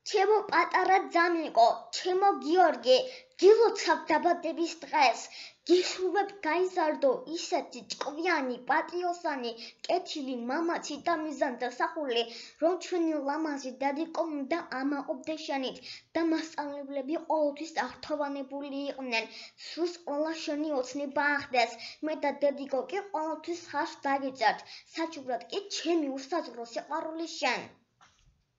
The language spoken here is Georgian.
ჩემო პატარა ძამიკო, ჩემო გიორგი, გილოცავ დაბადების დღეს. გისურვებ გაიზარდო ისეთი ჭკვიანი, პატიოსანი, კეთილი, მამაცი და მიზანწესახული, რომ ჩვენი ლამაზი დედიკო უნდა ამაყობდეს შენით და მასწავლებლები ყოველთვის აღთოვანებული იყვნენ. სურს ყველა შენი ოცნება ახდეს. მე და დედიკო კი ყოველთვის ხარს დაგიწერთ. საჩუქრად კი ჩემი უსაზღვრო სიყვარული შენ.